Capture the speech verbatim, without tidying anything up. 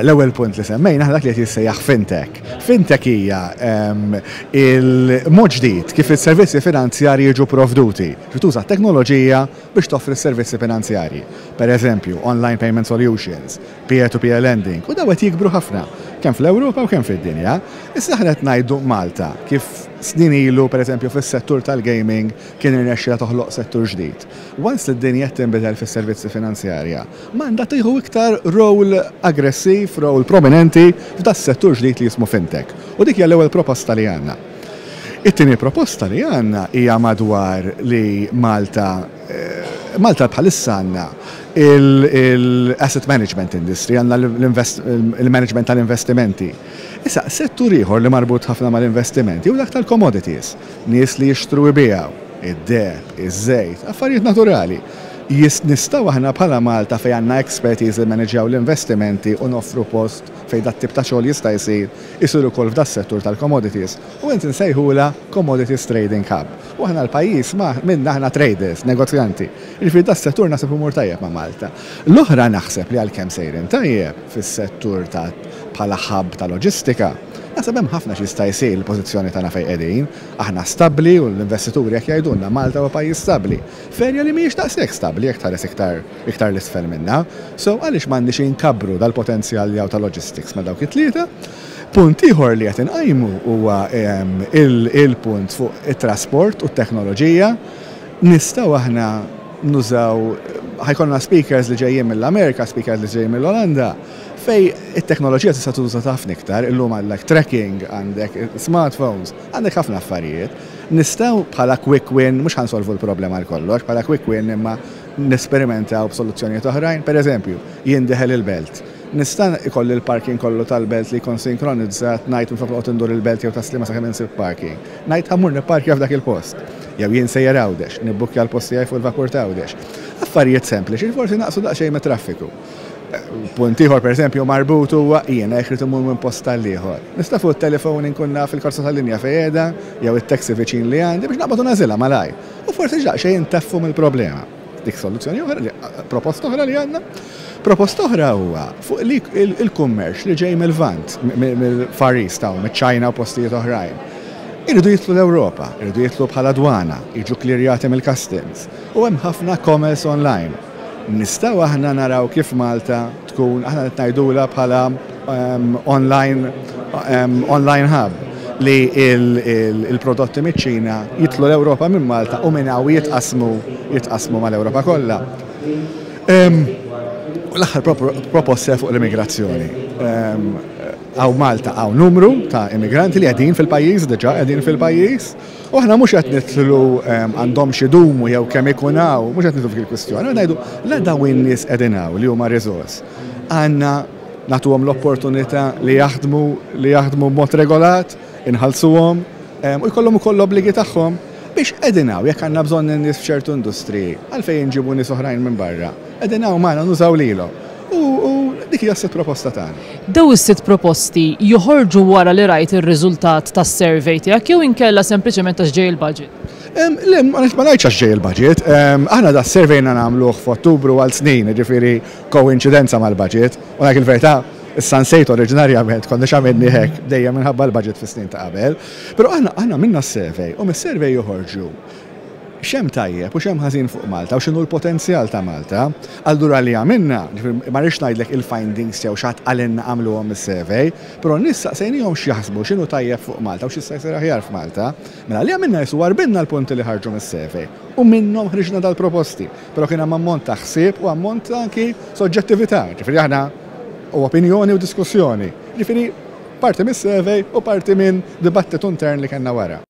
L-ewwel punt li semmejna dak li qed jissejjaħ fintech. Fintech hija il-mod ġdid kif is-servizzi finanzjarji jiġu provduti. Tuża teknoloġija biex toffri s-servizzi finanzjarji. Per eżempju, online payment solutions, peer-to-peer lending, u daw qed jikbru ħafna, kemm fl-Ewropa u kemm fid-dinja. Issa aħna qed ngħidu Malta kif snin ilu, per eżempju, fis-settur tal-gaming kien irnexxila toħloq settur ġdid. Once li d-dinja tinbidel fis-servizzi finanzjarja, m'għandha tieħu iktar role aggressiv, role prominenti f'da settur ġdid li jismu fintech. U dik hija l-ewwel proposta li għandna. It-tieni proposta li għandna hija madwar li Malta eh, Malta bħalissa għandna il-asset management industry, għandna il-management tal-investimenti. Issa, settur ieħor li marbut ħafna mal-investimenti u dak tal-commodities, nies li jixtru jbigħu, id-deheb, iż-żejt, affarijiet naturali. Jis nistgħu aħna bħala Malta, fejn għandna expertise li manaġjaw l-investimenti u noffru post fejn dat tip ta' xogħol jista' jsir, isir ukoll f'das settur tal-commodities. U int nsejħula Commodities Trading Hub. U aħna l-pajjiż ma minna aħna traders, negozjanti. Jiġifieri das settur naħseb imur tajjeb ma' Malta. L-oħra, naħseb li għalkemm sejrin tajjeb fis-settur ta' bħala hub ta' loġistika, naħseb hemm ħafna xi jsir il-pożizzjoni tagħna fejn qegħdin, aħna stabbli u l-investituri jekk jgħidulna Malta huwa pajjiż stabbli. F'erja li mhijiex daqshekk stabbli jekk tħares iktar iktar l-isfel minna. So għaliex m'għandniex inkabbru dal-potenzjal li ta' logistics ma' dawk it-tlieta? Punt ieħor li qed inqajmu huwa il-punt fuq it-trasport u t-teknoloġija. Nistgħu aħna nużaw, ħa jkollna speakers li ġejjin mill-Amerika, speakers li ġejjin mill-Olanda, fejn it-teknoloġija tista' tuża ħafna iktar, illum għandek tracking, għandek smartphones, għandek ħafna affarijiet. Nistgħu bħala quick win, mhux ħa nsolvu l-problema għal kollox, bħala quick win imma nesperimentaw b'soluzzjonijiet oħrajn. Per eżempju, jien dieħel il-Belt. Nista' ikolli l-parking kollu tal-Belt li jkun sinkronizzat, ngħid minflok noqgħod indur il-Belt jew Tas-Sliema sakemm insib parking. Ngħid ħa mmur nipparkja f'dak il-post. Jew jien sejjer Għawdex, nibbukkja l-post tiegħi fuq il-vapur ta' Għawdex. Affarijiet sempliċi, forsi naqsu daqsxejn mit-traffiku. Punt ieħor, pereżempju, marbut huwa jiena jekk irid imur minn post tal-ieħor. Nista' fuq it-telefon inkun naf il-karozza tal-linja fejn qiegħda jew it-taxi viċin li għandi biex naqbad u nagħżilha malaj. U forsi daqsxejn intaffu mill-problema. Dik soluzzjoni oħra, proposta oħra li għandna. Proposta oħra huwa fuq li il-kummerċ li ġej mill-Lvant, mill-Far East hawn, mill-Ċina u postijiet oħrajn. Iridu jidħlu l-Ewropa, iridu jidħlu bħala dwana, jiġu klirjati mill-customs. U hemm ħafna commerce online. Nistgħu aħna naraw kif Malta tkun, aħna ngħidula bħala um, online, um, online hub li il-prodotti miċ-Ċina jidħlu l-Ewropa minn Malta u minn hawn jitqasmu jitqasmu mal-Ewropa kollha. L-aħħar proposta fuq l-immigrazzjoni. Hawn Malta hawn numru ta' immigranti li qegħdin fil-pajjiż, diġà qegħdin fil-pajjiż, u aħna mhux qed nidħlu għandhom xi dumu jew kemm ikun hawn, mhux qed nidħlu fil-kwistjoni, ngħidu la dawn in-nies qegħdin hawn li huma riżors. Għandna nagħtuhom l-opportunità li jaħdmu li jaħdmu b'mod regolat, inħallsuhom u jkollhom ukoll l-obbligi tagħhom biex qegħdin hawn. Jekk għandna bżonn nies f'ċertu industriji, għalfejn nġibu nies oħrajn minn barra? Qegħdin hawn magħna, nużaw lilhom. U dik hija s-sitt proposta tagħna. Daw is-sitt proposti joħorġu wara li rajt ir-riżultat tas-survey tiegħek jew inkella sempliċement għax ġej il-budget? Le, ma ngħidx għax ġej il-budget. Aħna da survey nagħmluh f'Ottubru għal snin, ġifieri koinċidenza mal-budget. U ngħid il-verità, issa nsejt oriġinarjament konna x'għamilni hekk dejjem minħabba l-budget fis-snin ta' qabel. Però aħna aħna minna s-survey u mis-survey joħorġu x'hemm tajjeb u x'hemm ħażin fuq Malta u x'inhu l-potenzjal ta' Malta. Allura li għamilna, ma rridx ngħidlek il-findings jew x'ħadd qalilna għamluhom is-survey, però nies saqsejnihom x'jaħsbu x'inhu tajjeb fuq Malta u x'jista' jsir aħjar f'Malta. Mela li għamilna jisu warbinna l-punti li ħarġu mis-survey u minnhom ħriġna dal-proposti. Però kien hemm ammont ta' ħsieb u ammont anki soġġettività. Ġifieri aħna u opinjoni u diskussjoni. Ġifieri parti mis-survey u parti minn dibattitu intern li kellna wara.